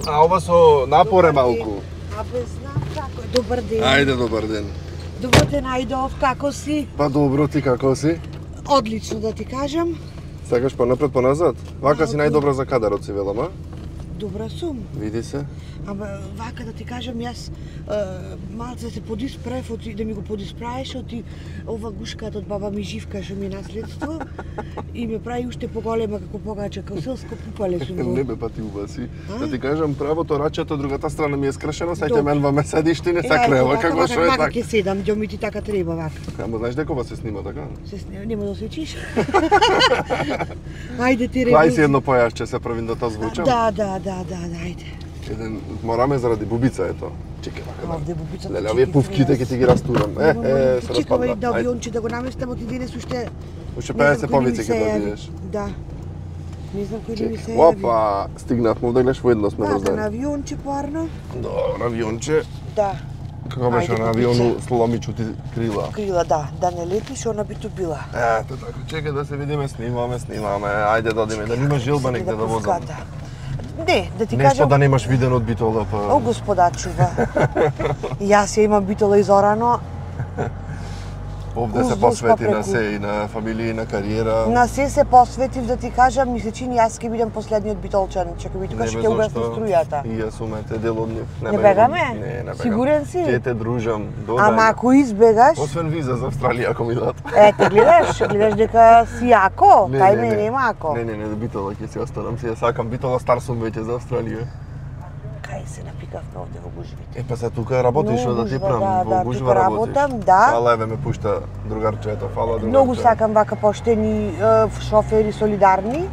А ова со напоре малку. Абе, знам како е. Добар ден. Ајде, добар ден. Добар ден, Ајдов, како си? Па добро, ти како си? Одлично да ти кажам. Сакаш понапред, поназад? Вака си најдобра за кадарот си, велам, а? Добра сум. Види се. Ама вака да ти кажам, јас малце се подисправив од да ми го подисправиш од ова гушката од баба ми Живка што ми е наследство и ме прави уште поголема како погача, како селско пупале сум го. Не бе, па ти убаси. Да ти кажам, правото рачето, другата страна ми е скршено, сајте Добре. мен ме седиш, ти не сакрева, како што е така. така. Вака ќе седам, џо ми ти така треба вака. Ама знаеш дека ова се снима така? Нема да освечиш. Ајде ти Дај си едно појасче, се правим да тоа звучам. Да, ајде. Еден мораме заради бубица ето. Чекај вака. Овде бубицата. Леле, овие пуфките ќе ти ги растурам. Се Чекаме распадна. да авионче да го наместам, оти денес уште. Уште не знам 50 кој повици ми се ќе јави. добиеш. Да. Не знам кој да ми се јави. Опа, стигнавме да гледаш воедно сме Да, на раздали. авионче парно. Добро, авионче. Да. Како беше Ајде, на авиону сломичути крила? Крила, да не летиш, она би ту била. Ето така, чекај да се видиме, снимаме. Ајде да одиме, да нема жилба негде да возам. Не, да ти Нешто кажам. да немаш виден од битола, па... О, господа чува. Јас ја имам битола изорано. Овде се посвети на се и на фамилија и на кариера. На се посветив, да ти кажам, ми се чини јас ќе бидам последниот битолчан. Чекај би тука што ќе угаснам струјата. И јас сум те дел од нив. Не бегаме? Не бегам. Сигурен си? Ќе те дружам. Ама ако избегаш... Освен виза за Австралија ако ми дадат. Ете, гледаш дека си јако, тај ме нема ако. Не, битола ќе си останам, си ја сакам. Битола стар сум веќе за Австралија. Кај се напикавме овде во гужвите. Па се тука работиш, да ти прам, во гужва работиш. Работам, да. Фала, еве ме пушта другарчето, фала другарче. Многу сакам вака поштени шофери солидарни.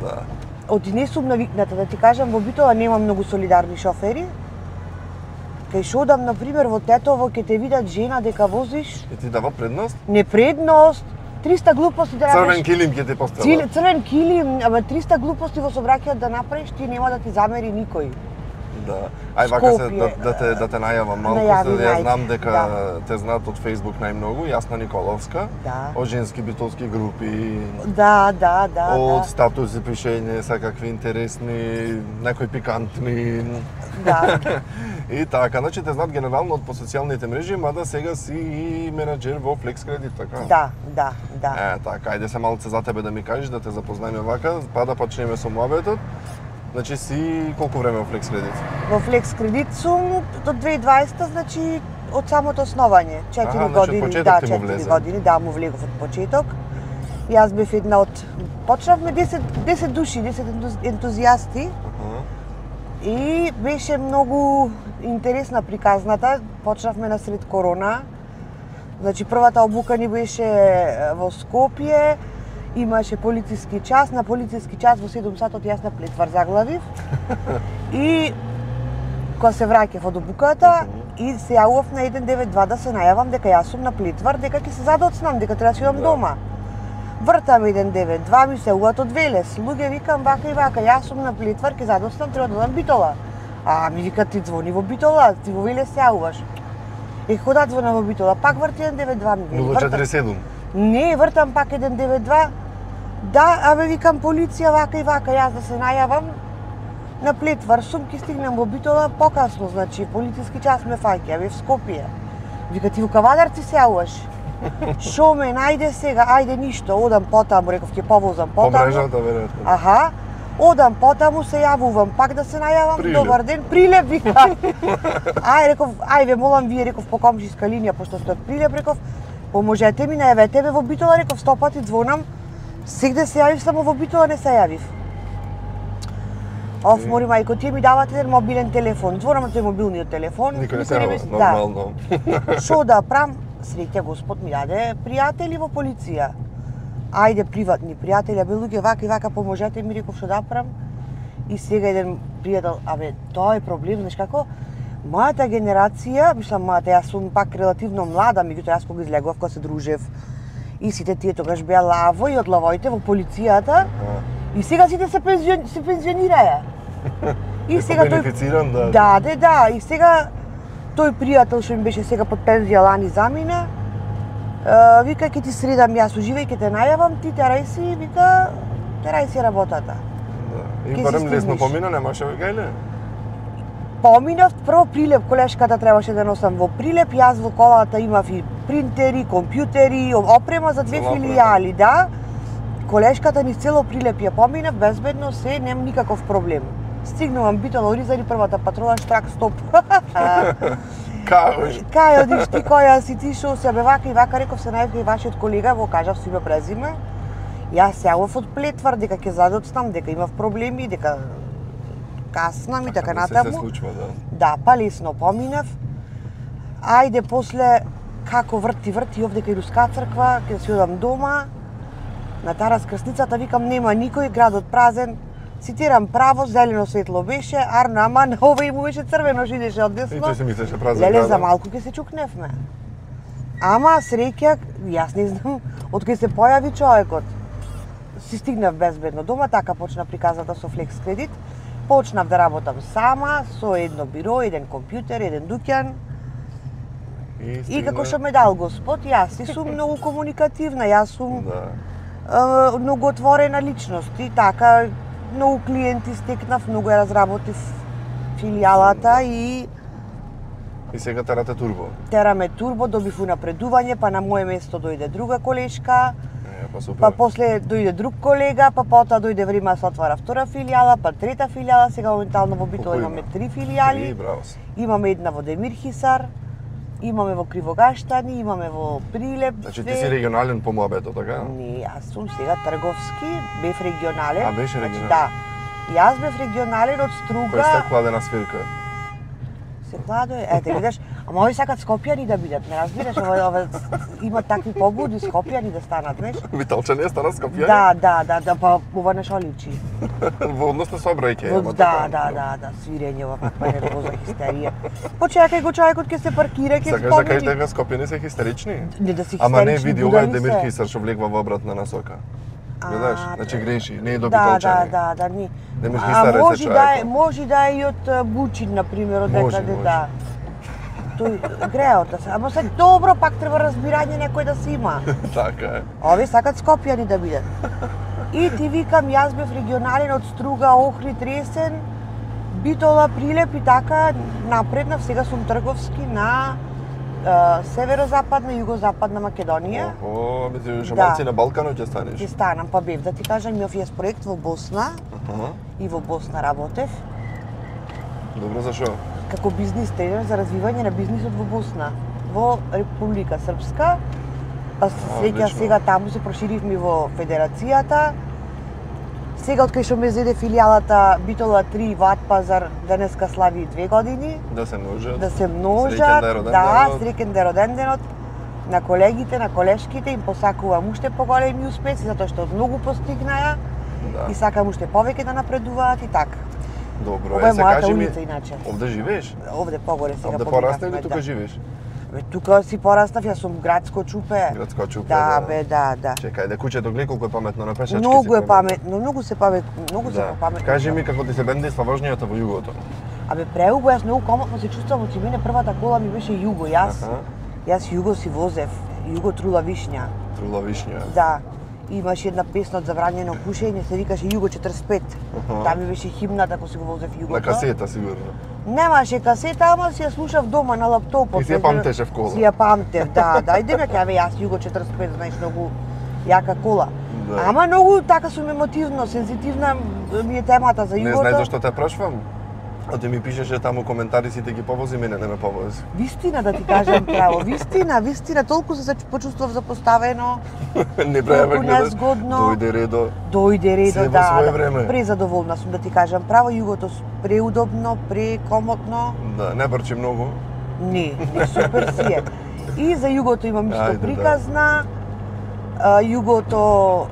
Да. Оти не сум навикната, да ти кажам, во Битола нема многу солидарни шофери. Кај што одам, например, во Тетово, ќе те видат жена дека возиш... И ти дава предност? Не предност, 300 глупости да направиш. Црвен килим ќе ти постават. Црвен килим, ама 300 глупости во сообраќајот да направиш, ти нема да ти замери никој. Да. Ај вака се да те најавам малку, јас знам дека те знаат од Facebook најмногу, Јасна Николовска, од женски битолски групи. Да. Од статуси пишење, секакви интересни, некои пикантни. Да. И така, значи те знаат генерално од по социјалните мрежи, мада сега си и менаџер во Flex Credit, така? Да. Така, ајде се малце за тебе да ми кажеш, да те запознаеме вака, па да почнеме со муабетот. Значи си колку време во Flex Credit? Во Flex Credit сум до 2020, значи од самото основање, 4 години, почеток ти му 4 влезе. години, да, му влегов од почеток. Јас бев една од почнавме 10 души, 10 ентузијасти. И беше многу интересна приказната. Почнавме насред корона. Значи првата обука ни беше во Скопје. Имаше полициски час, на полициски час во 7 сатот јас на Плетвар заглавив. И кога се враќав од обуката и се јавував на 192 да се најавам дека јас сум на Плетвар, дека ќе се задоцнам, дека треба да си одам дома. Вртам 192, ми се уат од Велес. Луѓе викам вака и вака, јас сум на Плетвар, ќе задоцнам, треба да одам Битола. А ми вика ти звони во Битола, ти во Велес се јавуваш. Кога звона во Битола, пак врти 192 ми вели. 047. Не, вртам пак 192. Да, абе викам полиција вака и вака, јас да се најавам на Плетвар, сум ќе стигнам во Битола покасно, значи полициски час ме фаќа, абе в Скопје. Вика ти во Кавадарци се јавуваш. Шо ме најде сега, ајде ништо, одам потаму, реков ќе повозам потаму. По мрежата веројатно. Аха. Одам потаму, се јавувам, пак да се најавам, Прилеп. Добар ден, Прилеп, вика. Реков, ве молам вие, реков, по комшиска линија, пошто сте од Прилеп, реков, поможете ми, најавете ме во Битола, реков, 100 пати звонам, сегде се јавив, само во Битола не се јавив. Мори мајко, тие ми давате еден мобилен телефон, звонам на тој мобилниот телефон. Никој не се јавува, нормално. Шо да прам, среќа Господ ми даде пријатели во полиција. Ајде приватни пријатели, абе луѓе вака и вака поможете ми, реков што да прам. И сега еден пријател, абе тоа е проблем, знаеш како? Мојата генерација, мислам јас сум пак релативно млада, меѓутоа јас кога излегував, кога се дружев, и сите тие тогаш беа лаво и од лавоите во полицијата. И сега сите се пензионираја. И сега тој бенефициран, да. Да, и сега тој пријател што ми беше сега под пензија лани замина, вика ќе ти средам јас уживај, ќе те најавам, ти терај си, вика, терај си работата. И барем лесно помина, немаше гајле? Поминав прво Прилеп, колешката требаше да носам во Прилеп, јас во колата имав и принтери, компјутери, опрема за 2 филијали, да. Колешката низ цело Прилеп ја поминав, безбедно се, нем никаков проблем. Стигнувам Битола, Оризари, првата патрола, штрак, стоп. Кај одиш ти, која си ти, шо се бе вака и вака, реков се најавка и вашиот колега, го кажав си ме презиме. Јас сеав од Плетвар, дека ќе задоцнам, дека имав проблеми, дека каснам и така натаму. Се случува, да. Да, па лесно поминав. Ајде после како врти овде кај Руска црква, ќе си одам дома. На Тарас крстницата викам нема никој, градот празен. Цитирам право, зелено светло беше, арно, ама на овој му беше црвено, шидеше од десно. И тој се мислеше празен град. Леле, град. за малку ќе се чукневме. Ама среќа, јас не знам, од кај се појави човекот. Си стигнав безбедно дома, така почна приказната со Flex кредит. Почнав да работам сама, со едно биро, еден компјутер, еден дуќан. И како што ме дал Господ, јас си сум многу комуникативна, јас сум многу отворена личност и така многу клиенти стекнав, многу ја разработив филијалата и сега терате турбо. Тераме турбо, добив унапредување, па на моје место дојде друга колешка. Па после дојде друг колега, па потоа дојде време да се отвара втора филијала, па трета филијала, сега моментално во Битола имаме 3 филијали. Имаме една во Демир Хисар, имаме во Кривогаштани, имаме во Прилеп. Значи ти си регионален по моабето, така? Не, јас сум сега трговски, бев регионален. А беше регионален? Да. Јас бев регионален од Струга. Кој сте кладена свирка? Се кладе, ете видиш, ама овој сакат скопјани да бидат, не разбираш, ова има такви побуди скопјани да станат, знаеш? Виталчани стана скопјани? Да, па ова не шо личи. Во однос на сообраќај, Да, свирење ова каква нервоза, хистерија. Почекај го човекот ќе се паркира, ќе спомени. Сакаш да кажеш дека скопјани се хистерични? Не да се хистерични. Ама не види, ова е Демир Хисар што влегва во обратна насока. Гледаш, значи греши, не е до Битолчани. Да, не. Демир Хисар е човекот. Може да е и од Бучин, например, од некаде, да. Тој греот да се, ама се добро пак треба разбирање некој да се има. Така е. Овие сакат скопјани да бидат. И ти викам, јас бев регионален од Струга, Охрид, Ресен, Битола, Прилеп и така напреднав, сега сум трговски на северозападна и југозападна Македонија. Охо, шамалци на Балканот ќе станеш? Ќе станам, па бев да ти кажам, имав јас проект во Босна и во Босна работев. Добро, за шо? Како бизнис тренер за развивање на бизнисот во Босна, во Република Српска. Па сега таму се проширивме во Федерацијата. Сега од кај што ме зеде филијалата Битола 3 во Атпазар, денеска слави 2 години. Да се множат. Да се множат, да, среќен да е роден денот на колегите, на колешките, им посакувам уште поголеми успеси, затоа што многу постигнаја и сакам уште повеќе да напредуваат и така. Добро, ова е мојата улица иначе. Овде живееш? Овде погоре сега. Овде порасна или тука живееш? Тука си пораснав, јас сум градско чупе. Градско чупе, да. Да. Чекај, куќето гледа колку е паметно на пешачки. Многу е паметно, многу се паметно. Кажи ми како ти се бендисва воžњата во југото. Абе преубаво, јас многу комотно се чувствувам, од мене првата кола ми беше Југо, јас Југо си возев, Југо Трула Вишња. Трула Вишња. Да. Имаше една песна од забранено пушење, се викаше Југо 45. Таа ми беше химната кога си го возев Југото. На касета сигурно. Немаше касета, ама си ја слушав дома на лаптопот. И си ја памтеше в кола. Си ја памтев, да. Иде ме кажа, јас Југо 45, знаеш, многу јака кола. Ама многу така сум емотивно, сензитивна ми е темата за Југото. Не знаеш зашто те прашувам? А ти ми пишеше таму коментари сите ги повози, мене не ме повози. Вистина да ти кажам право, вистина, толку се почувствував запоставено. Непријавен незгодно. Дојде редо, да. Презадоволна сум да ти кажам право, Југото преудобно, прекомотно. Да, не брчи многу. Не, супер си е. И за Југото имам исто приказна. Југото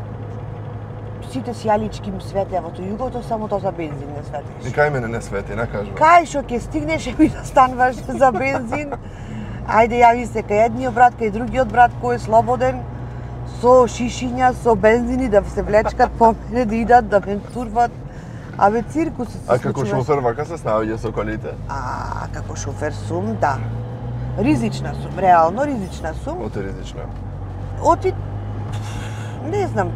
сите сијалички им светеа во тој Југото, само тоа за бензин не светиш. И кај мене не свети, не кажува. Кај што ќе стигнеш и да стануваш за бензин, ајде јави се кај едниот брат, кај другиот брат кој е слободен, со шишиња, со бензини да се влечкат по мене, да идат, да ме турват. Абе циркус се случува. А како шофер вака се снаоѓа со колите? Како шофер сум, да. Ризична сум, реално ризична сум. Оти ризична? Не знам.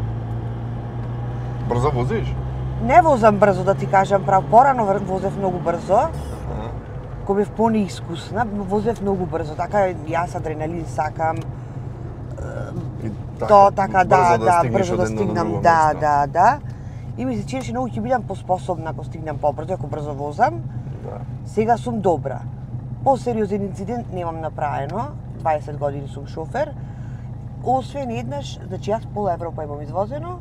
Брзо возиш? Не возам брзо, да ти кажам право. Порано возев многу брзо. кога бев понеискусна, возев многу брзо, така јас адреналин сакам. Тоа така брзо да стигнам, да. И ми се чинеше многу ќе бидам поспособна ако стигнам побрзо, ако брзо возам. Сега сум добра. Посериозен инцидент немам направено, 20 години сум шофер. Освен еднаш, значи јас пола Европа имам извозено,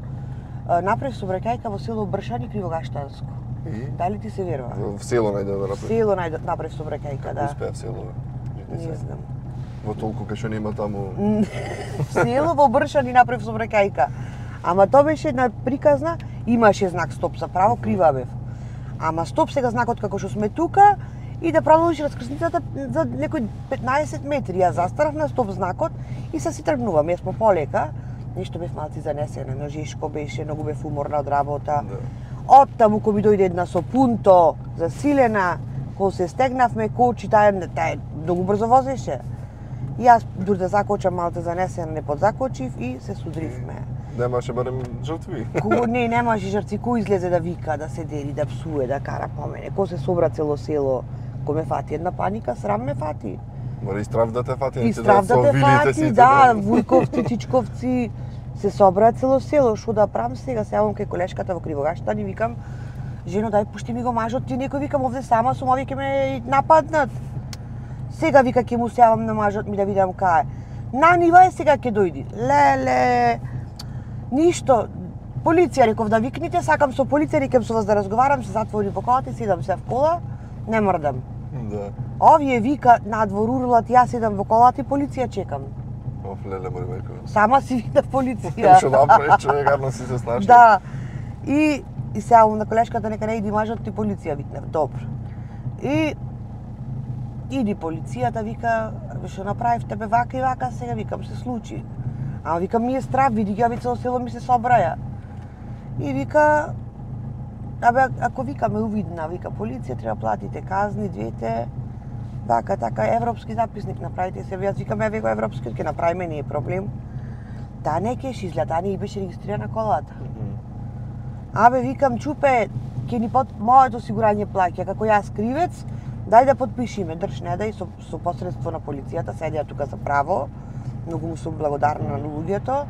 направив сообраќајка во село Бршани, Кривогаштанско. Дали ти се верува? В село најде да направи? Село направив сообраќајка, да. Како успеа в село? Не знам. Во толку кај што нема таму... Село во Бршани направив сообраќајка. Ама тоа беше една приказна, имаше знак стоп за право, крива бев. Ама стоп сега знакот како што сме тука и да продолжи раскрсницата за некои 15 метри. Јас застанав на стоп знакот и се си тргнувам. Јас по полека, нешто бев малци занесена, ножешко беше, многу бев уморна од работа. Од таму кој ми дојде една со пунто, засилена, кога се стегнавме, кочи, таа многу брзо возеше. Јас дури да закочам малце занесена, не подзакочив и се судривме. Немаше барем жртви? Не, немаше жртви. Кој излезе да вика, да се дели, да псуе, да кара по мене? Кој се собра цело село? Кој ме фати една паника, срам ме фати. Мора и страв да те фати, и страв да те фати, да, вујковци, чичковци, се собра цело село. Шо да правам сега? Се јавам кај колешката во Кривогаштан и викам, жено, дај пушти ми го мажот, ти некој, викам, овде сама сум, овие ќе ме нападнат. Сега вика ќе му се јавам на мажот ми да видам кај. На нива е сега ќе дојди. Леле, ништо. Полиција реков да викните, сакам со полиција, рекам со вас да разговарам, се затвори во колата и седам се в кола, не мрдам. Да. Овие вика надвор урлат, јас седам во колата и полиција чекам. Оф, леле, мој мајко. Сама си видав полиција. Што направиш, човек, арно си се снашли. Да. И се јавам на колешката, нека не иди мажот ти полиција, викнев. Добро. И иди полицијата, вика, што направив тебе вака и вака, сега викам се случи. Ама викам ми е страв, види ги, цело село ми се собраја. И вика, ако викаме увидна, вика полиција, треба платите казни, двете, вака, така, европски записник направите се, јас викам, еве го европски, ќе направиме, не е проблем. Таа не кеш изгледа, таа не беше регистрирана колата. Абе, викам, чупе, ќе ни моето осигурање плаќа, како јас кривец, дај да подпишиме, држ, не дај, со посредство на полицијата, седеа тука за право, многу му сум благодарна на луѓето,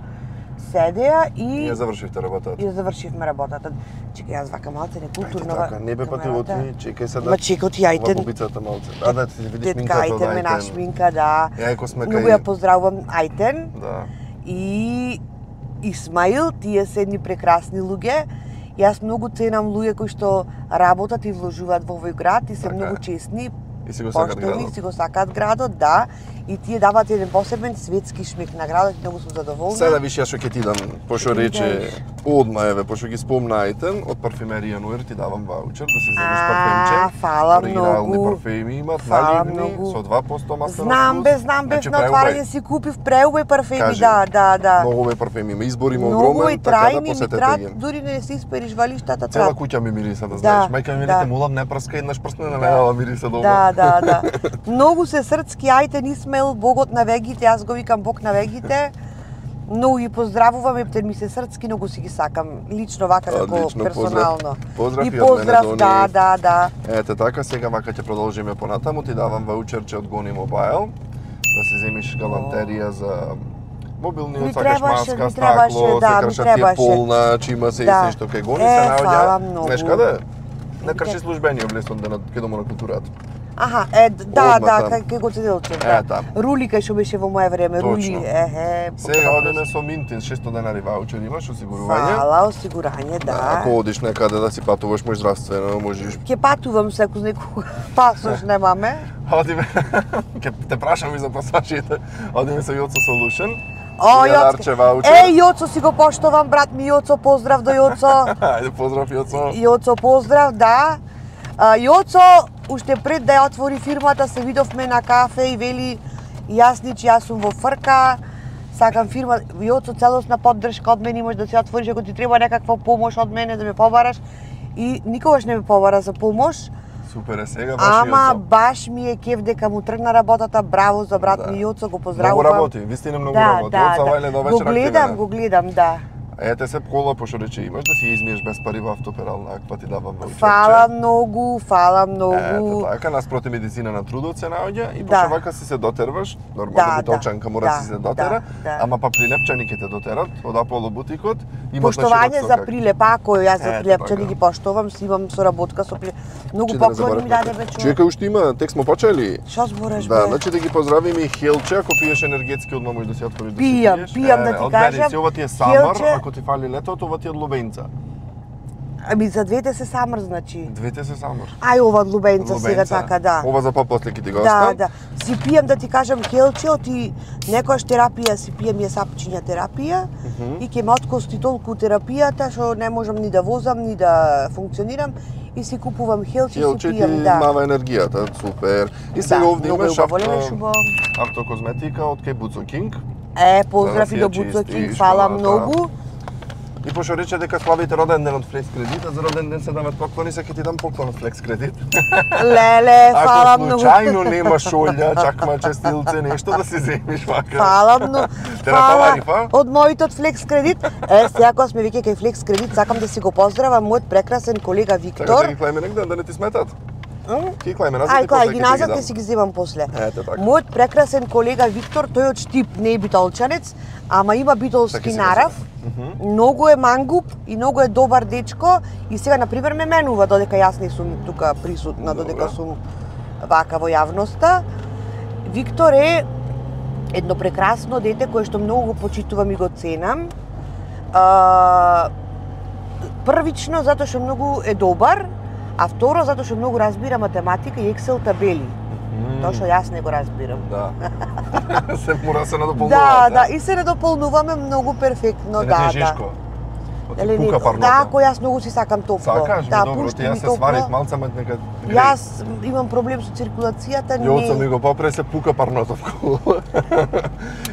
седеа и... Ја завршивте работата? И завршивме работата. Чекај, јас вака малце некултурно... Ајде така, не бе патилот ми, чекај се да... Ма чекот и ајтен... Ова бубицата малце. Да ти видиш минката минката од ајтен. Ме нашминка, да. Јајко сме кај... Многу ја поздравувам ајтен. Да. И Исмаил, тие се едни прекрасни луѓе. Јас многу ценам луѓе кои што работат и вложуваат во овој град и се многу честни. И си го сакат градот. Си го сакат градот, да. И тие дават еден посебен светски шмек на градот, многу сум задоволна. Сега виш ја што ќе ти дам, пошто рече одма еве, пошто ги спомна ајтен, од парфемерија Нуер ти давам ваучер да си земеш парфемче. Фала оригинални многу. парфеми имат, наливни, со 2% маслен Знам бе, на отварање си купив преубави парфеми, да. Многу убави парфеми има, избор има огромен, огромен, така да посетете ги. Дури не си испериш валиштата трат. Цела куќа ми мириса, да знаеш. Мајка ми те молам, не прска еднаш прсне на мене, мириса дома. Да. Многу се срцки, ајтен Исмаил, богот на вегите, јас го викам бог на вегите. Многу ги поздравувам, ептен ми се срцки, многу си ги сакам, лично вака како персонално. Поздрав и поздрав, да. Ете така, сега вака ќе продолжиме понатаму, ти давам ваучерче од Гони Мобайл, да си земиш галамтерија за мобилниот, сакаш маска, стакло, се кршат ти е полна, че има се и се што кај Гони се наоѓа. Знаеш каде? На крши службениот лестон денот кај Домот на културата. Аха, кај го седелче, да. Рули кај што беше во моје време, рули, Сега одиме со Минтин, 600 денари ваучер имаш, осигурување. Фала, осигурање, да. Ако одиш некаде да си патуваш, можеш здравствено, можеш... Ке патувам се, ако некога пасош немаме. Одиме, ке те прашам и за пасажите, одиме со Јоцо Solution. Јоцо си го поштовам, брат ми Јоцо, поздрав до Јоцо. Ајде, поздрав Јоцо. Јоцо, поздрав, да. Јоцо, уште пред да ја отвори фирмата, се видовме на кафе и вели, јас сум во фрка, сакам фирма, Јоцо, целосна поддршка од мене, имаш да се отвориш ако ти треба некаква помош од мене да ме побараш. И никогаш не ме побара за помош. Супер е сега, баш Јоцо. Ама баш ми е кеф дека му тргна работата, браво за брат ми Јоцо, го поздравувам. Многу работи, вистина многу работи. Од Савајле до вечера го гледам, да. Ете се кола, пошто рече имаш да си измиеш без пари во автоперална аква, ти давам ваучерче. Фала многу. Ете така, наспроти медицина на трудот се наоѓа и пошто вака си се дотерваш, нормално битолчанка мора да си се дотера, ама па прилепчани ќе те дотерат од Аполо бутикот. Поштовање за прилеп, ако јас за прилепчани ги поштовам, си имам соработка со прилеп. Многу поклони ми даде вече. Чека, уште има, тек смо почели. Што збориш бе? Да, значи да ги поздравиме и Хелче, ако пиеш енергетски одма можеш да си отвориш да си пиеш. Пијам да ти кажам. Ова ти е самар, ако ти фали летото, ова ти е од лубенца. Ами за двете се самар, значи. Двете се самар. Ај ова од лубенца сега така, да. Ова за попосле ќе ти го оставам. Да. Си пијам да ти кажам Хелче, оти некојаш терапија си пијам ја сапчиња терапија и ќе ме откости толку терапијата што не можам ни да возам, ни да функционирам и си купувам Хелче и си пијам, да. Мава енергијата, супер. И сега овде имаш автокозметика од кај Буцо Кинг. Поздрав и до Буцо Кинг, фала многу. И пошто рече дека славите роден ден од Флекс Кредит, а за роден ден се дават поклони, се ќе ти дам поклон од Флекс Кредит. Леле, фала многу. Ако случајно немаш олја, чакма честилце, нешто да си земиш вака. Фала многу. Фала од моите од Флекс Кредит. Сега кога сме веќе кај Флекс Кредит, сакам да си го поздравам мојот прекрасен колега Виктор. Така да ги клајме негде, да не ти сметат. Ки клајме назад и после ги назад ќе си ги земам после. Ете така. Мојот прекрасен колега Виктор, тој од Штип, не е битолчанец, ама има битолски нарав. Многу е мангуп и многу е добар дечко и сега на пример ме менува додека јас не сум тука присутна, додека сум вака во јавноста. Виктор е едно прекрасно дете кое што многу го почитувам и го ценам. Првично затоа што многу е добар, а второ затоа што многу разбира математика и Excel табели. Тоа што јас не го разбирам. Да. Се мора се надополнувате. Да, и се надополнуваме многу перфектно, да. Жишко. Пука парното. Да, ако јас многу си сакам топло. Сакаш, да, добро, ти јас се сварив малце, ама нека греј. Јас имам проблем со циркулацијата, Јоца ми го попре, се пука парното вколу.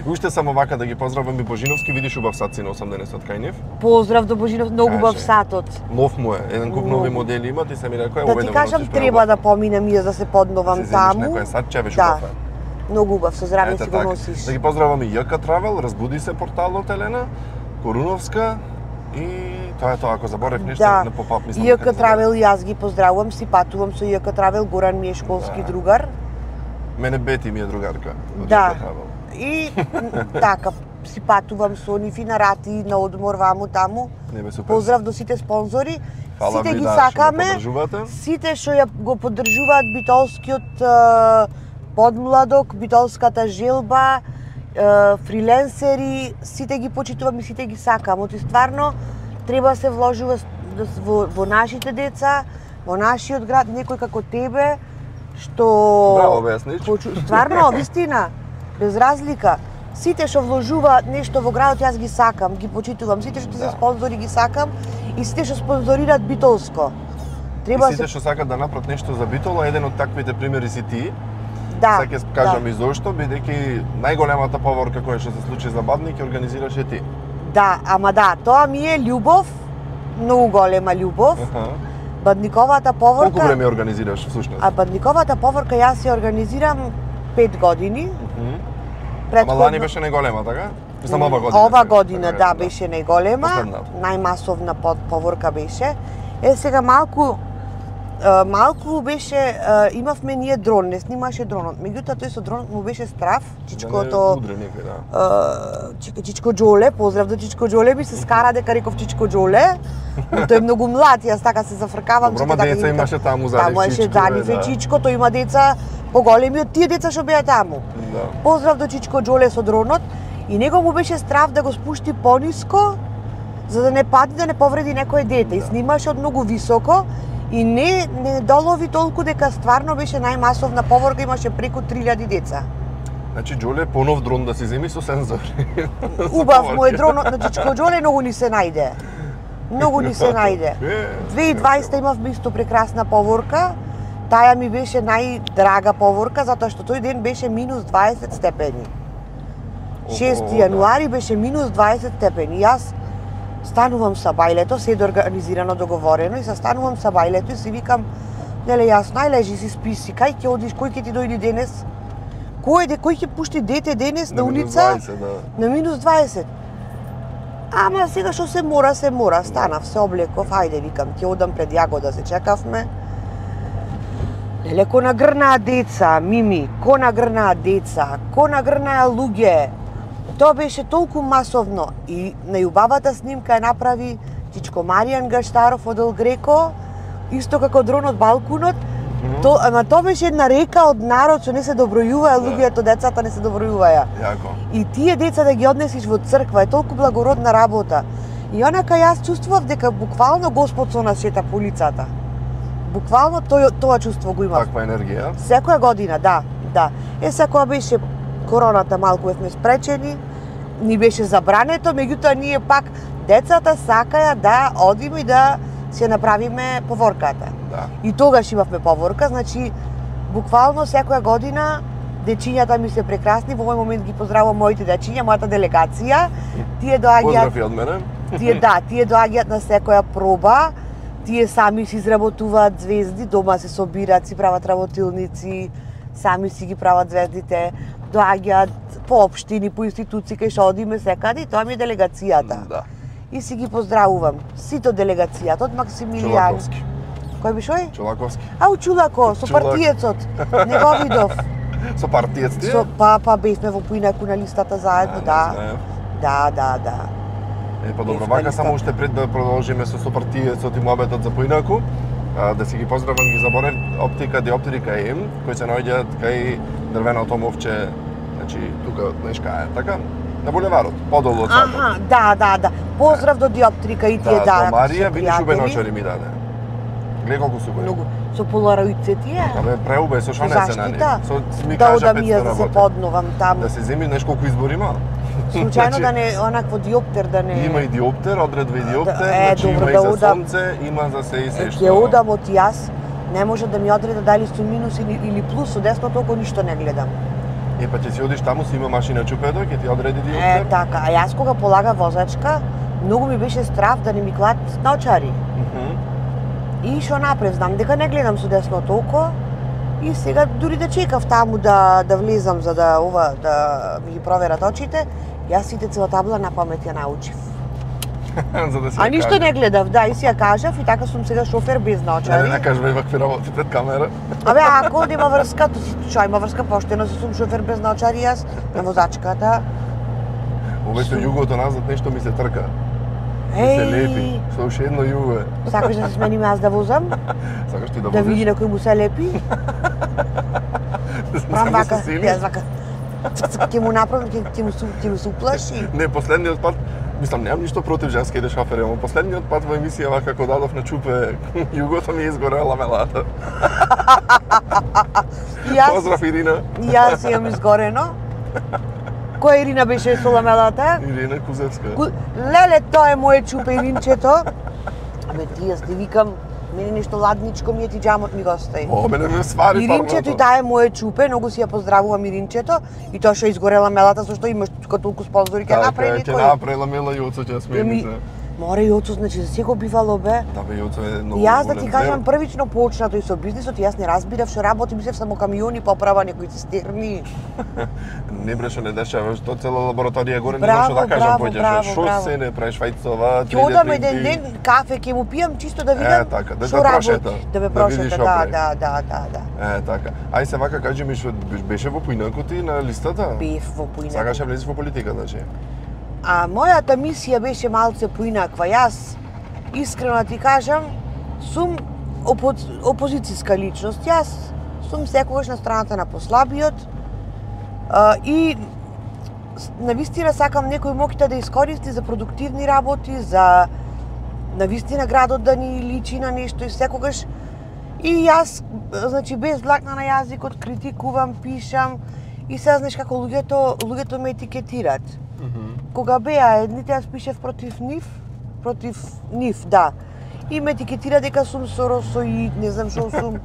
Уште само вака да ги поздравам и Божиновски, видиш убав сат си на 80 кај нив. Поздрав до Божинов, многу убав сатот. Нов му е, еден куп нови модели има, ти се ми рекоа, да ти кажам, треба да поминам и да се подновам таму. Некој сат чевеш убав. Многу убав, со здравје си го носиш. Да ги поздравам и ЈК Travel, разбуди се порталот Елена, Коруновска. И тоа е тоа, ако заборев нешто, не попап мислам. ЈК Travel јас ги поздравувам, си патувам со ЈК Travel, Горан ми е школски другар. Мене Бети ми е другарка од ЈК Travel. И така, си патувам со нив и на рати, на одмор, ваму, таму. Поздрав до сите спонзори. Сите ги сакаме, сите што ја го поддржуваат битолскиот подмладок, битолската желба, фриленсери, сите ги почитувам и сите ги сакам. Оти стварно треба да се вложува во нашите деца, во нашиот град, некој како тебе, што... Браво, објаснич. Стварно, вистина, без разлика. Сите што вложуваат нешто во градот, јас ги сакам, ги почитувам. Сите што се спонзори ги сакам и сите што спонзорираат битолско. Треба и сите што сакат да направат нешто за битола, еден од таквите примери си ти. Да. Сега ќе кажам и зошто, бидејќи најголемата поворка која што се случи за Бадни ќе организираше ти. Да, ама да, тоа ми е љубов, многу голема љубов. Бадниковата поворка... Колку време организираш всушност? А Бадниковата поворка јас ја организирам 5 години. Ама лани беше најголема, така? Мислам ова година. Ова година, да, беше најголема. Најмасовна поворка беше. Сега малку беше, имавме ние дрон, не снимаше дронот. Меѓутоа тој со дронот му беше страв, чичкото... Чичко Џоле, поздрав до Чичко Џоле, ми се скара дека реков Чичко Џоле. Тој е многу млад, јас така се зафркавам. Добро, ма деца имаше таму за Чичко. Имаше Даниф и Чичко, тој има деца поголеми од тие деца што беа таму. Поздрав до Чичко Џоле со дронот и него му беше страв да го спушти пониско за да не падне, да не повреди некое дете. И снимаше од многу високо и не долови толку дека стварно беше најмасовна поворка, имаше преку 3000 деца. Значи Џоле понов дрон да си земи со сензори. Убав му е дронот на Чичко Џоле, многу ни се најде. Многу ни се најде. 2020 имавме исто прекрасна поворка. Таја ми беше најдрага поворка затоа што тој ден беше минус 20 степени. 6 јануари беше минус 20 степени. Јас станувам са бајлето, се организирано, договорено и се станувам са бајлето и си викам, неле јас најлежи си списи, кај ќе одиш, кој ќе ти дојде денес? Кој ќе пушти дете денес на улица? На минус 20. Ама сега што се мора, станав, се облеков, ајде, викам, ќе одам пред Јагода, се чекавме. Леле, ко нагрнаа деца, Мими, ко нагрнаа деца, ко нагрнаа луѓе. Тоа беше толку масовно и најубавата снимка ја направи Чичко Маријан Гаштаров од Ел Греко, исто како дрон од балкунот. Ама тоа беше една река од народ што не се добројуваја, луѓето, децата не се добројуваја. Јако. И тие деца да ги однесиш во црква е толку благородна работа. И онака јас чувствував дека буквално Господ со нас шета по улицата. Буквално тоа чувство го имав. Таква енергија? Секоја година, да. Секоја беше короната, малку бевме спречени, ни беше забрането, меѓутоа ние пак децата сакаја да одиме и да се направиме поворката. Да. И тогаш имавме поворка, значи буквално секоја година дечињата ми се прекрасни, во овој момент ги поздравувам моите дечиња, мојата делегација. Тие доаѓаат. Поздрави од мене. Тие доаѓаат на секоја проба. Тие сами си изработуваат звезди, дома се собираат, си прават работилници, сами си ги прават звездите, доаѓаат по општини, по институции кај што одиме секаде и тоа ми е делегацијата. Да. И си ги поздравувам. Сите од делегацијата, од Максимилијан. Чулаковски. Кој биш ој? Чулаковски. Ау, Чулако, со партиецот. Не го видов. Со партиец ти? Па бевме во Поинаку на листата заедно, да. Да. Па добро, вака само уште пред да продолжиме со партиецот и муабетот за Поинаку, да си ги поздравам, ги заборев Оптика Диоптрика им, кои се наоѓаат кај дрвеното мовче, значи тука знаеш кај е, така? На булеварот, подолу од садот. Да. Поздрав до Диоптрика и тие да. Марија види шубеночари ми даде. Гледа колку су многу. Со полароидце тие? Абе, преубај, со што не се на нив. Со ми да кажа 500 одам да се подновам таму. Да се земи, знаеш колку избор има? Случајно да не, онакво диоптер да не... Има и диоптер, одредва и диоптер, значи има и за сонце, има за се и се што... Ќе одам од јас, не може да ми одреда дали су минус или плюс, со десното око ништо не гледам. Па ќе си одиш таму, си има машина чупедо, ќе ти одреди диоптер? Така, а јас кога полага возачка, многу ми беше страв да не ми клат наочари. И што направив, знам дека не гледам со десното око, и сега дури да чекав таму да влезам за да ми ги проверат очите, јас сите цела табла на памет ја научив. За да си а ништо не гледав, да, и си ја кажав и така сум сега шофер без наочари. Не кажувај вакви работи пред камера. Абе, ако нема врска, што има врска поштено, сум шофер без наочари јас на возачката. Овето југото назад нешто ми се трка. Се лепи, што уште едно југо е. Сакаш да се сменим јас да возам? Сакаш ти да возиш? Да види на кој му се лепи? Прам вака, јас вака. Ќе му направам, ќе му се уплаши. Не, последниот пат, мислам, немам ништо против женските шофери, но последниот пат во емисија вака како дадов на чупе, југото ми изгорела ламелата. Поздрав, Ирина. Јас имам изгорено. Која Ирина беше со ламелата? Ирина Кузевска. Леле, тоа е моје чупе, Иринчето. Абе, ти јас ти викам, мене нешто ладничко ми е, ти џамот ми го остави. О, мене ме свари Иринчето и таа е моје чупе, многу си ја поздравувам Иринчето. И тоа што изгоре ламелата, со што имаш тука толку спонзори, ќе направи никој. Ќе направи ламела и оцо ќе смени се. Море и оцо, значи за секој бивало бе. Да бе, оцо е многу. Јас да ти кажам првично почнато и со бизнисот, јас не разбирав што работи, мислев само камиони поправа некои цистерни. Не бреше не дешава, што цела лабораторија горе не може да кажам поѓаш. Што се не правиш вајцова, 3D. Ќе одам еден ден кафе ќе му пијам чисто да видам. Така, да што прошета. Да ме прошета, да. Така. Ај се вака кажи ми што беше во Поинаку ти на листата? Бев во Поинаку. Сакаш да влезеш во политика, значи? А мојата мисија беше малце поинаква. Јас, искрено ти кажам, сум опозицијска личност. Јас сум секогаш на страната на послабиот и навистина сакам некој моќта да искористи за продуктивни работи, за навистина градот да ни личи на нешто и секогаш. И јас, значи, без длакна на јазикот, критикувам, пишам и сега знаеш како луѓето ме етикетираат. Кога беа едните, јас пишев против нив, да. И ме етикетира дека сум соросоид, не знам што сум,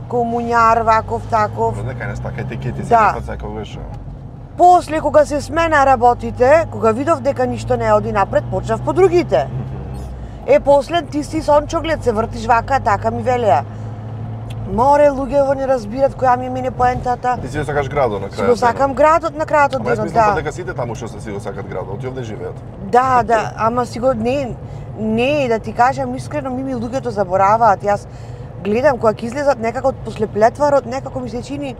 комуњар, ваков, таков. Дека не стака етикети се не секогаш. После, кога се смена работите, кога видов дека ништо не оди напред, почнав по другите. После ти си сончоглед, се вртиш вака, така ми велеа. Море луѓето не разбират која ми мине поентата. Ти си го сакаш градот на крајот. Си го сакам градот на крајот од денот, да. Ама дека сите таму што си го сакат градот, ти овде живеат. Да, ама си го не, да ти кажам искрено, ми луѓето забораваат. Јас гледам кога ќе излезат некако после плетварот, некако ми се чини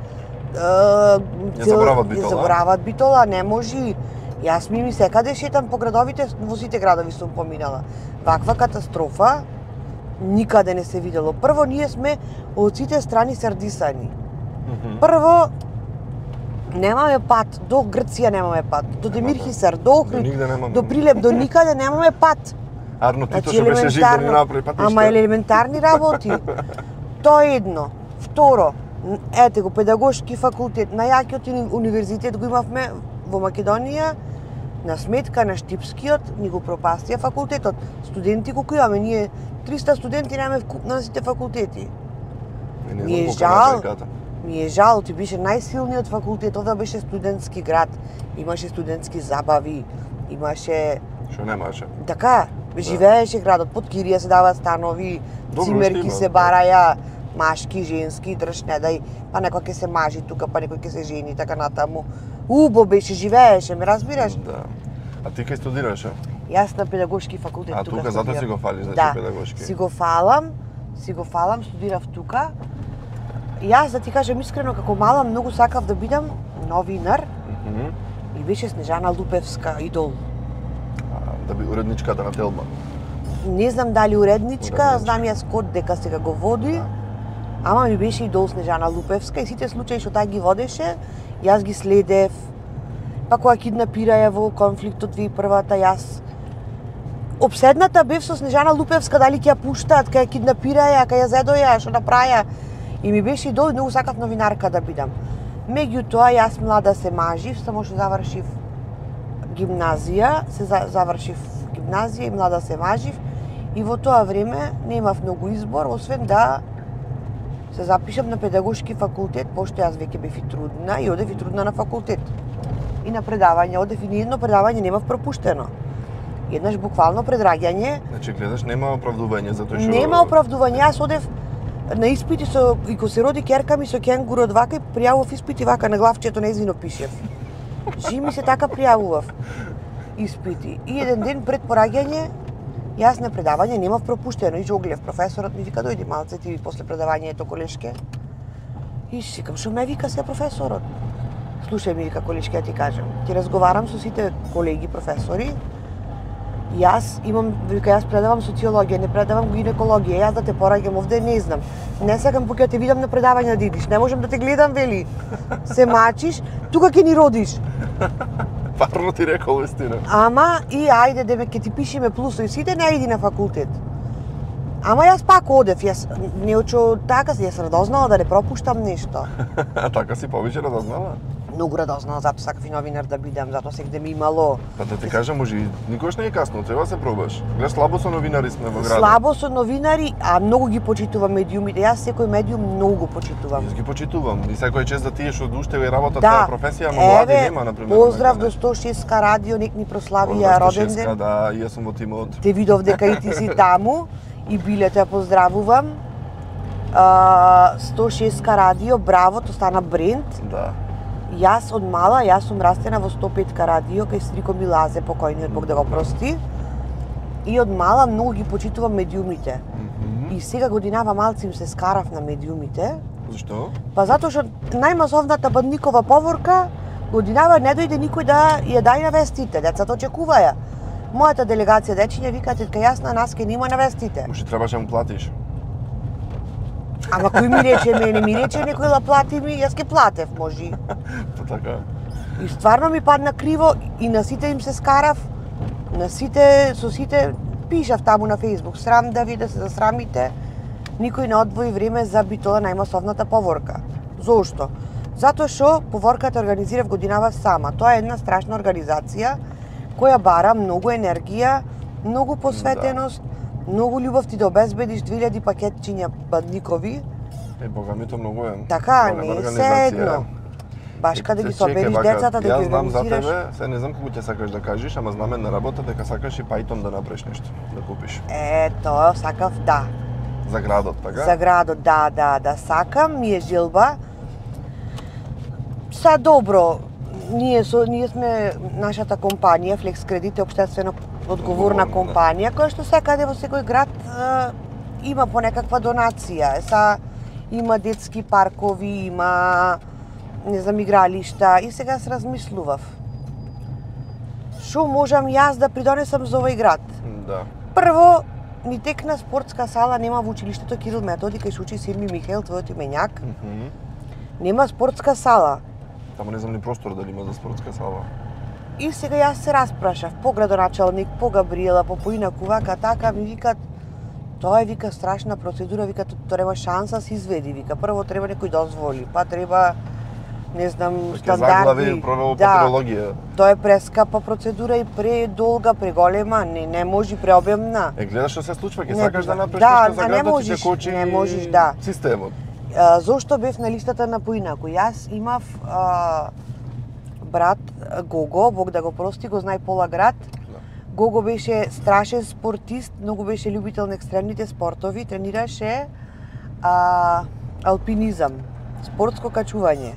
заборават Битола, не може. Јас ми секаде шетам по градовите, во сите градови сум поминала. Ваква катастрофа никаде не се видело. Прво, ние сме од сите страни сардисани. Прво, немаме пат, до Грција немаме пат, до Демирхисар, до Охрид, до Прилеп, до никаде немаме пат. Арно Тито што беше жив да ни направи патишта. Ама елементарни работи. Тоа е едно. Второ, ете го, педагошки факултет, најакиот универзитет го имавме во Македонија, на сметка на Штипскиот, ни го пропастија факултетот. Студенти колку имаме, ние 300 студенти немаме на сите факултети. Ми е жал, ти беше најсилниот факултет, овде беше студентски град, имаше студентски забави, имаше... Што немаше? Така, живееше градот, под кирија се даваат станови, цимерки се бараја, машки, женски, држ, не дај, па некој ќе се мажи тука, па некој ќе се жени, така натаму. Убо беше, живееше, ме разбираш? Да. А ти кај студираше? Јас на педагошки факултет тука. А тука затоа си го фалиш, значи педагошки? Да, си го фалам, студирав тука. Јас да ти кажам искрено, како мала многу сакав да бидам новинар. И беше Снежана Лупевска идол. Да би уредничката на Телма? Не знам дали уредничка, знам јас код дека сега го води. Ама ми беше идол Снежана Лупевска и сите случаи што таа ги водеше, јас ги следев. Па кога киднапираја во конфликтот 2001-та, јас обседната бев со Снежана Лупевска, дали ќе ја пуштаат, кај ја киднапираја, кај ја зедоја, што направија. И ми беше идол и многу сакав новинарка да бидам. Меѓутоа, јас млада се мажив, само што завршив гимназија, завршив гимназија и млада се мажив. И во тоа време немав многу избор, освен да се запишам на педагошки факултет, пошто јас веќе бев и трудна и одев и трудна на факултет. И на предавање, одев и ни едно предавање немав пропуштено. Еднаш буквално предраѓање. Значи гледаш, нема оправдување затоа што... Нема оправдување, јас одев на испити со и кога се роди ќерка ми со кенгурот вака и пријавував испити вака на главчето нејзино пишев. Жими се така пријавував испити. И еден ден пред пораѓање јас на предавање немав пропуштено и жоглев. Професорот ми вика дојди малце ти после предавањето колешке. И си викам што ме вика се професорот. Слушај ми вика колешке, ти кажам. Ти разговарам со сите колеги професори. Јас имам, вика, јас предавам социологија, не предавам гинекологија, јас да те пораѓам овде не знам. Не сакам поќе те видам на предавање да идиш, не можам да те гледам, вели. Се мачиш, тука ќе ни родиш. Парно ти рекол вистина. Ама и ајде деме ќе ти пишеме плусови, сите не иди на факултет. Ама јас пак одев, јас не очу така, јас радознала да не пропуштам нешто. Така си повеќе радознала? Многу радознала, затоа сакав и новинар да бидам, затоа сегде ми имало. Па да ти кажам, може никош не е касно, треба да се пробаш. Гледаш, слабо со новинари сме во градот. Слабо со новинари, а многу ги почитувам медиумите. Јас секој медиум многу почитувам. Јас ги почитувам. И секој чест да тие што уште ја работат таа професија, но млади нема, например. Поздрав до 106 радио, нек ни прославија роден ден. Да, и јас сум во тимот. Те видов дека и ти си таму и биле те поздравувам. 106 радио, браво, тоа стана бренд. Да. Јас од мала, јас сум растена во 105 радио, кај стрико ми Лазе, покојниот Бог да го прости. И од мала многу ги почитувам медиумите. И сега годинава малци им се скарав на медиумите. Зашто? Па затоа што најмасовната бандникова поворка годинава не дојде никој да ја дај на вестите, децата очекуваја. Мојата делегација дечиња викаат дека јас на нас ке нема на вестите. Може требаше му платиш. Ама кој ми рече мене, ми рече некој да плати ми, јас ке платев, може. Па така. И стварно ми падна криво и на сите им се скарав, на сите, со сите пишав таму на Facebook, срам да ви да се засрамите, никој не одвои време за Битола најмасовната поворка. Зошто? Затоа што поворката организирав годинава сама. Тоа е една страшна организација која бара многу енергија, многу посветеност, многу љубов ти да обезбедиш 2000 пакетчиња бандникови. Бога ми, то многу е. Така, не е се едно. Баш каде ги собериш децата, да ги организираш. Јас знам за тебе, се не знам како ќе сакаш да кажеш, ама знаме на работа дека сакаш и Python да направиш нешто, да купиш. Тоа сакав, да. За градот, така? За градот, да, сакам, ми е желба. Са добро, ние сме нашата компанија Flex Credit е општествено одговорна компанија која што секаде во секој град има по некаква донација. Има детски паркови, има не знам игралишта и сега се размислував. Што можам јас да придонесам за овој град? Да. Прво, ни текна спортска сала нема во училиштето Кирил Методи кај што учи Сирми Михаил, твојот именјак. Нема спортска сала. Тамо не знам ни простор дали има за спортска сала. И сега јас се распрашав по градоначалник, по Габриела, по поинаку вака така ми викат тоа е вика страшна процедура, вика тоа нема шанса се изведи, вика прво треба некој дозволи, па треба не знам стандарди. Да, тоа е прескапа процедура и предолга, преголема, не може преобемна. Гледаш што се случва, ќе сакаш да направиш нешто за градот и ќе кочи системот. Зошто бев на листата на поинаку? Јас имав брат Гого, Бог да го прости, го знае пола град. Гого беше страшен спортист, многу беше љубител на екстремните спортови, тренираше алпинизам, спортско качување.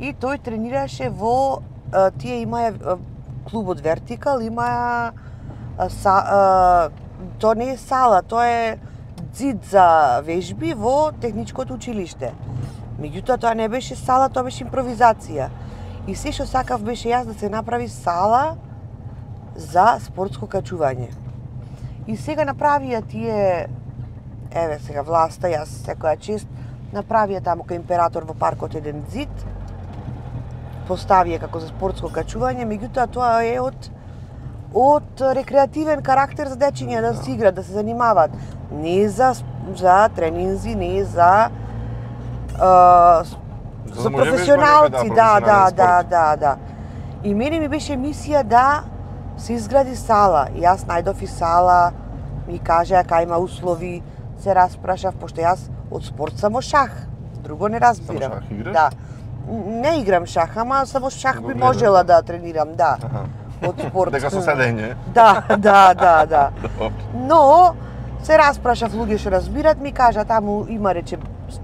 И тој тренираше во тие имаа клубот Вертикал, има тоа не е сала, тоа е ѕид за вежби во техничкото училиште. Меѓутоа тоа не беше сала, тоа беше импровизација. И се што сакав беше јас да се направи сала за спортско качување. И сега направија тие, еве сега власта, јас секоја чест, направија таму кај Император во паркот еден ѕид, поставија како за спортско качување, меѓутоа тоа е од рекреативен карактер за дечиња да се играат, да се занимаваат. Не е за тренинзи, не е за професионалци, да. И мене ми беше мисија да се изгради сала. Јас најдов и сала, ми кажа кај има услови, се распрашав, пошто јас од спорт само шах, друго не разбирам. Само шах играш? Да. Не играм шах, ама само шах би можела да тренирам, да. Од спорт. Дека со седење? Да. Но се распрашав луѓе што разбират, ми кажа таму има рече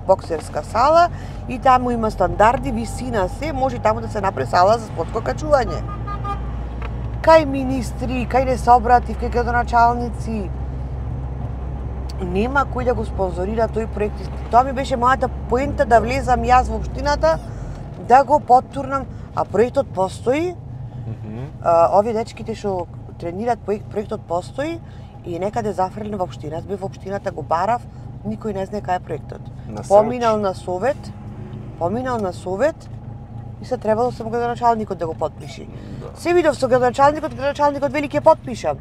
боксерска сала и таму има стандарди, висина се, може таму да се направи сала за спортско качување. Кај министри, кај не се обратив, кај градоначалници, нема кој да го спонзорира тој проект. Тоа ми беше мојата поента да влезам јас во општината, да го поттурнам, а проектот постои. Овие дечките што тренираат проектот постои и некаде зафрлен во општина. Јас бев во општината, го барав, никој не знае кај е проектот. Поминал на совет и се требало само градоначалникот да го потпиши. Се видов со градоначалникот вели ќе потпишам.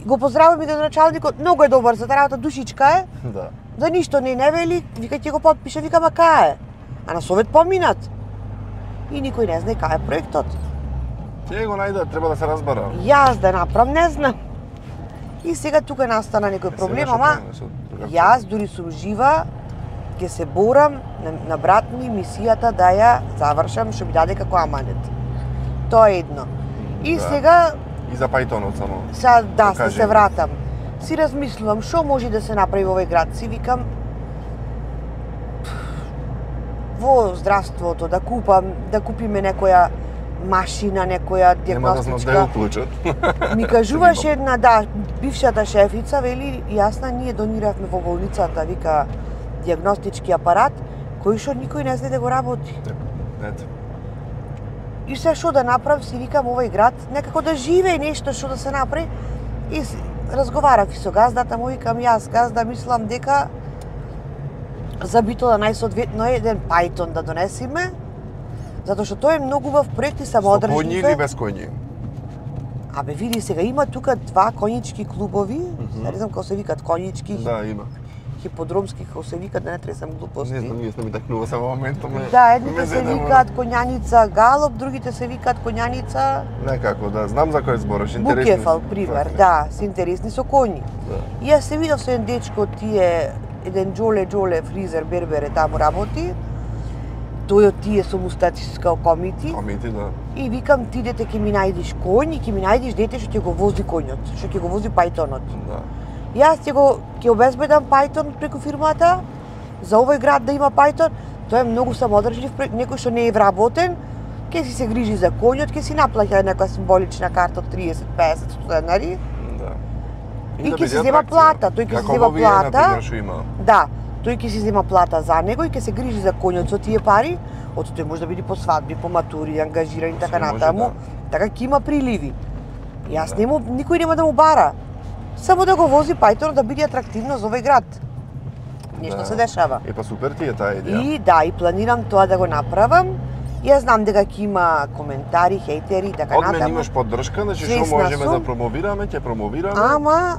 Го поздравувам и градоначалникот, многу е добар за таа работа, душичка е. Да. За ништо не вели, вика ќе го потпише, вика ма кај е? А на совет поминат. И никој не знае кај е проектот. Тие го најдат, треба да се разбара. Јас да направам, не знам. И сега тука настана некој проблем, ама јас дури сум жива, ќе се борам на брат ми мисијата да ја завршам што ми даде како аманет. Тоа е едно. И сега и за пајтонот само. Се вратам. Си размислувам што може да се направи во овој град, си викам во здравството да купиме некоја машина, некоја диагностичка. Нема да уклучат. Ми кажуваше една, бившата шефица, вели, јасна, ние дониравме во болницата, вика, диагностички апарат, кој што никој не знае да го работи. Ето. И се што да направам, си викам овој град, некако да живее нешто што да се направи. И разговарав и со газдата му, викам јас, газда, мислам дека за битола најсоодветно е еден пајтон да донесиме, затоа што тоа е многу убав проект и самоодржливе. Со коњи или без коњи? Абе, види сега, има тука два конјички клубови, не знам како се викат, конјички. Да, има. Хиподромски, како се викат, да не тресам глупости. Не знам, јас не ми такнува се во моментот. Да, едните се викаат конјаница галоп, другите се викаат конјаница... Некако, да, знам за кој збориш, интересни. Букефал, пример, да, се интересни со коњи. И јас се видов со еден дечко, тие, еден Джоле, фризер, бербере, таму работи. Тој од тие со мустациско комити. Комити, да. И викам, ти дете ќе ми најдиш конј и ќе ми најдиш дете што ќе го вози коњот, што ќе го вози пајтонот. Да. Јас ќе обезбедам Python преку фирмата, за овој град да има Python, тој е многу самодржлив проект, некој што не е вработен, ќе си се грижи за конјот, ќе си наплаќа некоја символична карта од 30-50 денари. Да. И ќе си зема плата, тој ќе си зема плата. Да, тој ќе си зема плата за него и ќе се грижи за конјот со тие пари, од тој може да биде по свадби, по матури, ангажирани така натаму. Така ќе има приливи. Јас никој нема да му бара. Само да го вози Python да биде атрактивно за овој град. Нешто се дешава. Па супер ти е таа идеја. И да, и планирам тоа да го направам. Јас знам дека ќе има коментари, хейтери и така натаму. Од мене имаш поддршка, значи што можеме да промовираме, ќе промовираме. Ама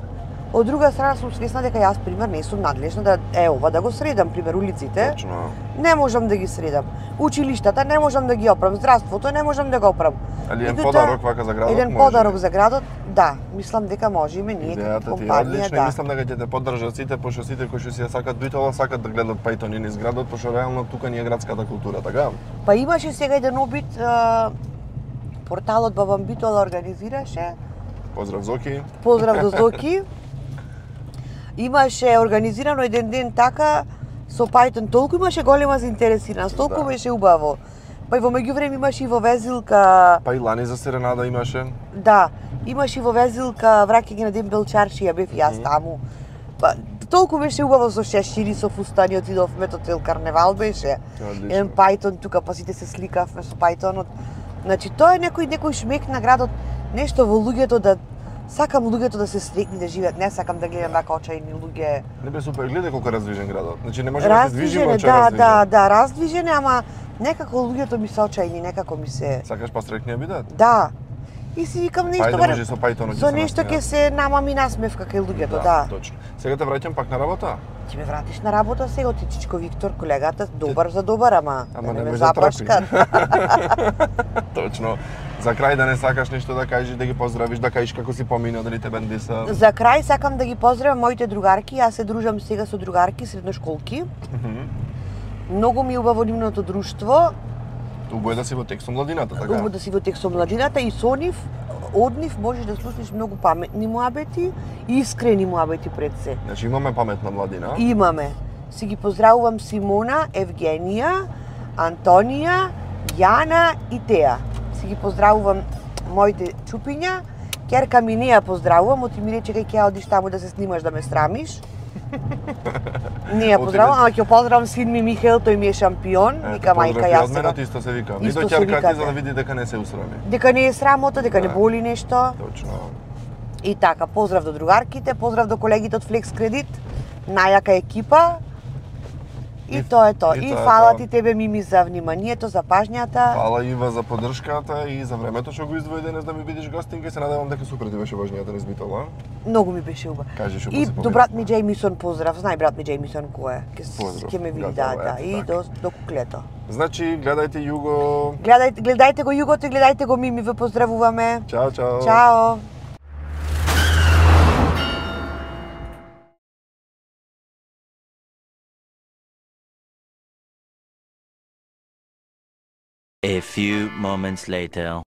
од друга страна сум свесна дека јас пример не сум надлежна да ова да го средам, пример улиците. Точно. Не можам да ги средам. Училиштата не можам да ги оправам, здравството не можам да го оправам. Али еден подарок вака за градот може. Еден подарок за градот, да, мислам дека можеме ние како компанија, да. Мислам дека ќе те поддржат сите, пошто сите кои што си ја сакат битола, сакат да гледат Python и низ градот, пошто реално тука ни е градската култура, така? Па имаше сега еден обид, порталот Бабам Битола организираше. Поздрав Зоки. Поздрав до Зоки. Имаше организирано еден ден така со Python, толку имаше голема заинтересираност, толку беше убаво. Па и во меѓувреме имаше и во Везилка. Па и лани за Серенада имаше. Да, имаше и во Везилка враќање на Ден Белчаршија, бев јас таму. Па толку беше убаво со шешири, со фустани, отидовме до цел карневал беше. Еден Python тука, па сите се сликавме со Pythonот. Значи тоа е некој шмек на градот, нешто во луѓето да сакам луѓето да се среќни да живеат, не сакам да гледам вака очајни луѓе. Не бе супер, гледај колку раздвижен градот. Значи не може да се движиме очај раздвижен. Да, раздвижен, ама некако луѓето ми се очајни, некако ми се. Сакаш па среќни бидат? Да. И си викам нешто може со Python со нешто ќе се намами насмевка кај луѓето, да. Точно. Сега те враќам пак на работа? Ќе ме вратиш на работа сега, ти Чичко Виктор, колегата, добар за добар, ама не ме запашкат. Точно. За крај да не сакаш нешто да кажеш, да ги поздравиш, да кажеш како си помина, дали те бендиса? За крај сакам да ги поздравам моите другарки, јас се дружам сега со другарки средношколки. Многу ми е убаво нивното друштво. Убаво е да си во текст со младината, така? Убаво да си во текст со младината и со нив, од нив можеш да слушнеш многу паметни муабети и искрени муабети пред се. Значи имаме паметна младина? Имаме. Си ги поздравувам Симона, Евгенија, Антонија, Јана и Теа. Си ги поздравувам моите чупиња. Керка ми не ја поздравувам, оти ми рече кај ќе одиш таму да се снимаш да ме срамиш. Не ја поздравувам, ама ќе поздравам син ми Михаел, тој ми е шампион. Вика мајка јас. Од исто се викам. И до ќерка ти за да види дека не се усрами. Дека не е срамота, дека не боли нешто. Точно. И така, поздрав до другарките, поздрав до колегите од Флекс Кредит, најака екипа. И тоа е тоа. И фала ти тебе, Мими, за вниманието, за пажњата. Фала Ива за поддршката и за времето што го издвои денес да ми бидеш гостинка и се надевам дека супер ти беше важнијата низ Битола. Многу ми беше убаво. Кажи што и до брат ми Джеймисон поздрав. Знај брат ми Джеймисон кој е. Ќе ме види, да. И до куклето. Значи, гледајте Југо. Гледајте го Југото и гледајте го Мими, ве поздравуваме. Чао, чао. Чао. A few moments later.